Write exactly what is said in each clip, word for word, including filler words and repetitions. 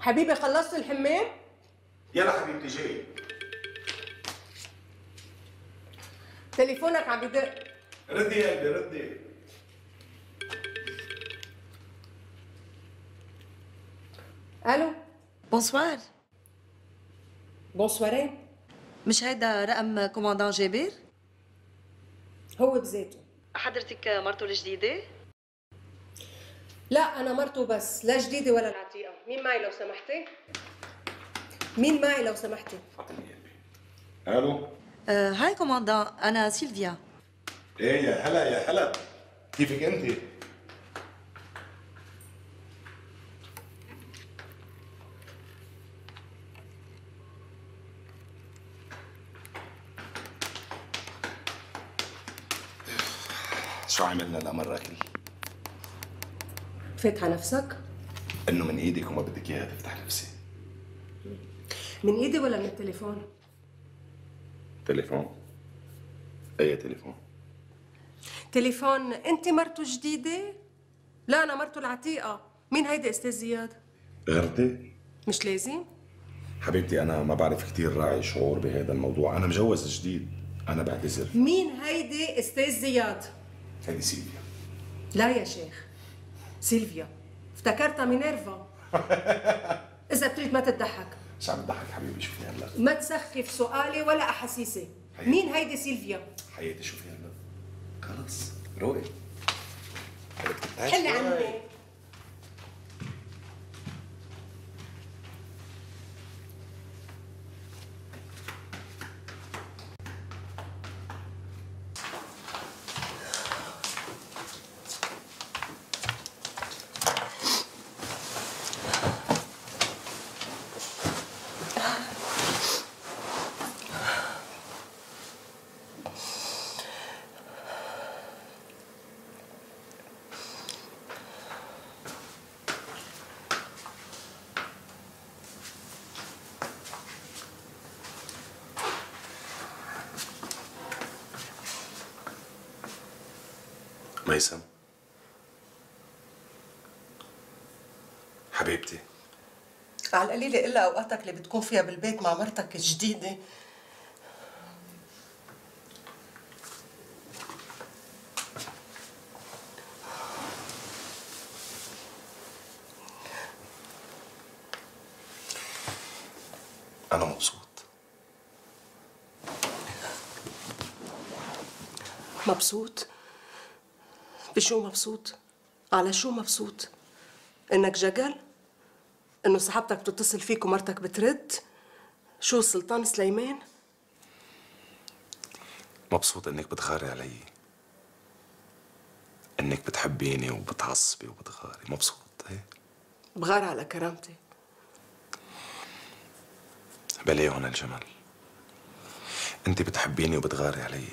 حبيبي خلصت الحمام؟ يلا حبيبتي جاي. تليفونك عم بدق. ردي يا قلبي ردي. الو. بونسوار. بونسوارين. مش هيدا رقم كوماندان جابر؟ هو بذاته. حضرتك مرته الجديدة؟ لا أنا مرته بس، لا جديدة ولا العتيقة. مين معي لو سمحتي؟ مين معي لو سمحتي؟ فاطمة يا قلبي. الو. آه هاي كوماندان، أنا سيلفيا. ايه يا هلا يا هلا. كيفك انت؟ شو عملنا لمرة كل؟ فاتحة نفسك؟ انه من ايدك وما بدك اياها تفتح نفسي. من ايدي ولا من التليفون؟ تليفون؟ اي تليفون؟ تليفون. انت مرته جديدة؟ لا أنا مرته العتيقة. مين هيدي أستاذ زياد؟ غيرتي؟ مش لازم؟ حبيبتي أنا ما بعرف كثير راعي شعور بهذا الموضوع، أنا مجوز جديد، أنا بعتذر. مين هيدي أستاذ زياد؟ هيدي سيلفيا. لا يا شيخ، سيلفيا افتكرتها مينيرفا. إذا بتريد ما تضحك. شو عم تضحك حبيبي؟ شوفي هلا. ما تسخف سؤالي ولا أحاسيسي. مين هيدي سيلفيا؟ حياتي شوفي هلا. خلص روقي. حلي عني. ميسم حبيبتي، على القليلة إلا أوقاتك اللي بتكون فيها بالبيت مع مرتك الجديدة. أنا مبسوط. مبسوط؟ بشو مبسوط؟ على شو مبسوط؟ إنك جقل؟ إنه صاحبتك بتتصل فيك ومرتك بترد؟ شو السلطان سليمان؟ مبسوط إنك بتغاري علي، إنك بتحبيني وبتعصبي وبتغاري. مبسوط إيه؟ بغار على كرامتي. بلي هون الجمل. أنت بتحبيني وبتغاري علي.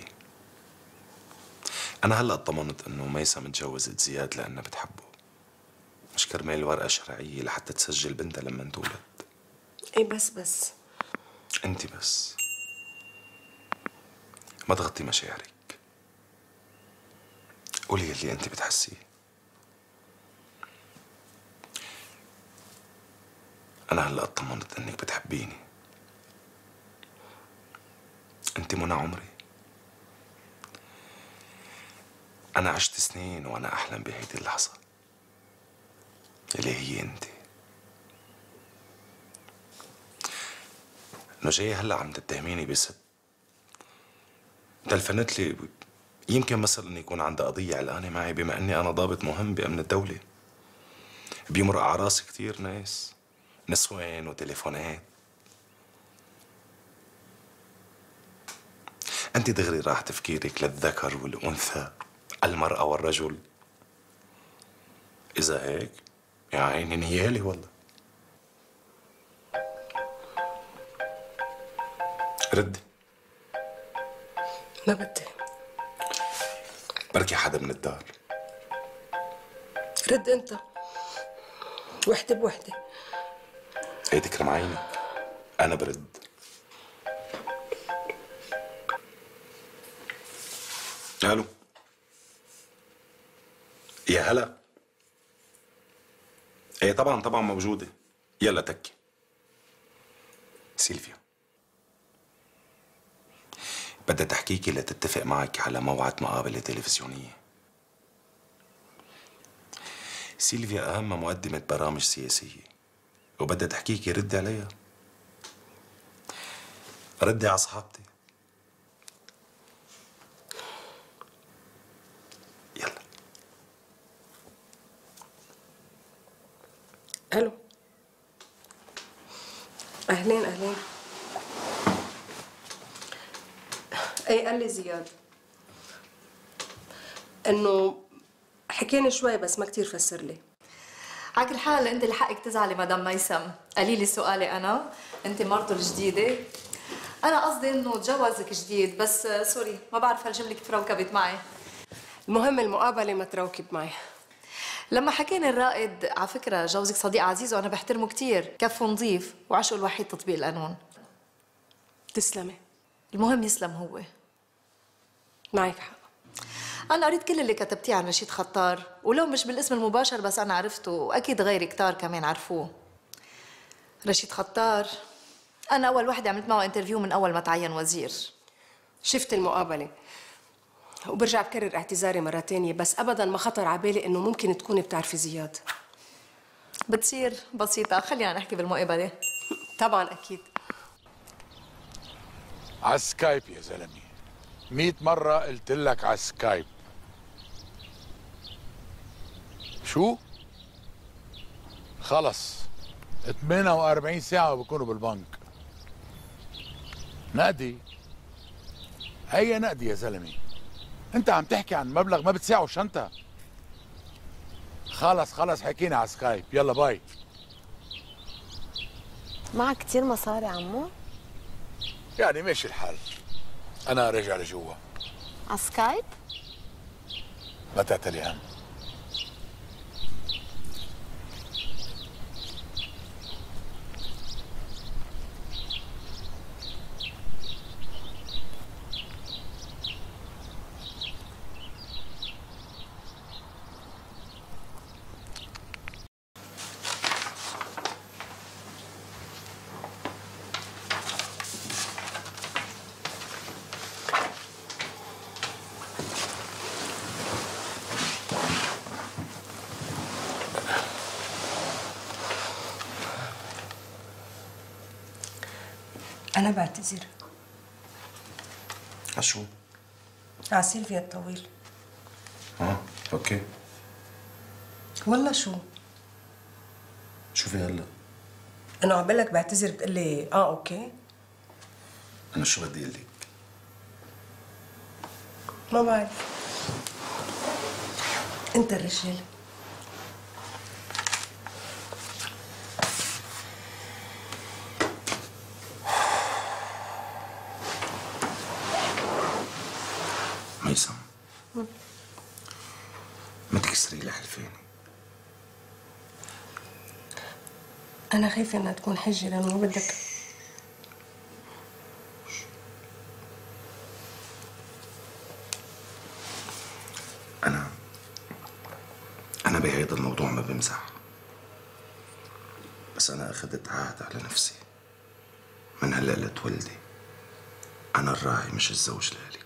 أنا هلأ اطمنت إنه ميسم متجوزت زياد لأنها بتحبه، مش كرمال ورقة شرعية لحتى تسجل بنتها لما تولد. إيه بس بس أنت بس ما تغطي مشاعرك، قولي اللي أنت بتحسيه. أنا هلأ اطمنت إنك بتحبيني. أنت منى عمري. أنا عشت سنين وأنا أحلم بهيدي اللحظة اللي هي أنت. إنه جاي هلا عم تتهميني بست تلفنت لي، يمكن مثلا يكون عندها قضية علقانة معي بما إني أنا ضابط مهم بأمن الدولة. بيمرق على راسي كثير ناس، نسوان وتليفونات. أنت دغري راح تفكيرك للذكر والأنثى، المرأة والرجل. إذا هيك يا عيني نيالي والله. ردي. ما بدي. بركي حدا من الدار. رد أنت. وحدة بوحدة. ايه تكرم عينك، أنا برد. الو. يا هلا. ايه طبعا طبعا موجودة. يلا تكي. سيلفيا، بدها تحكيكي لتتفق معك على موعد مقابلة تلفزيونية. سيلفيا أهم مقدمة برامج سياسية وبدها تحكيكي ردي عليها. ردي على صحابتي. يلا. الو. اهلين اهلين. ايه قال لي زياد انه حكيني شوي بس ما كتير فسر لي. على كل حال انت اللي حقك تزعلي مدام ميسم. قليلي سؤالي انا، انت مرته الجديده. انا قصدي انه تجوزك جديد، بس سوري ما بعرف هالجمله كيف روكبت معي. المهم المقابله ما تروكب معي. لما حكيني الرائد على فكره جوزك صديق عزيز وانا بحترمه كثير، كفه نظيف وعشقه الوحيد تطبيق القانون. تسلمي. المهم يسلم هو. معك حق. أنا قريت كل اللي كتبتيه عن رشيد خطار، ولو مش بالاسم المباشر بس أنا عرفته، وأكيد غيري كتار كمان عرفوه. رشيد خطار أنا أول وحدة عملت معه انترفيو من أول ما تعين وزير. شفت المقابلة وبرجع بكرر اعتذاري مرة تانية، بس أبداً ما خطر على بالي إنه ممكن تكوني بتعرفي زياد. بتصير بسيطة، خلينا نحكي بالمقابلة. طبعاً أكيد. على سكايب يا زلمة، مئة مرة قلت لك على سكايب. شو؟ خلص ثمانية وأربعين ساعة وبكونوا بالبنك. نقدي؟ هي نقدي يا زلمة. انت عم تحكي عن مبلغ ما بتساعه شنطة. خلص خلص حكينا على سكايب، يلا باي. معك كتير مصاري عمو؟ يعني ماشي الحال. أنا راجع لجوا. على سكايب؟ ما تعتلي هم. أنا بعتذر. عشو؟ على سيلفيا الطويل. اه اوكي. والله شو؟ شوفي هلا. أنا عقبالك بعتذر بتقول لي آه أوكي؟ أنا شو بدي أقول لك؟ ما بعرف. أنت الرجال. ميسم، ما تكسري لي حلفاني. أنا خايفة إنها تكون حجة لأنه ما بدك. أنا أنا بهيدا الموضوع ما بمزح، بس أنا أخذت عهد على نفسي من هلا لتولدي. أنا الراعي مش الزوج لإلي.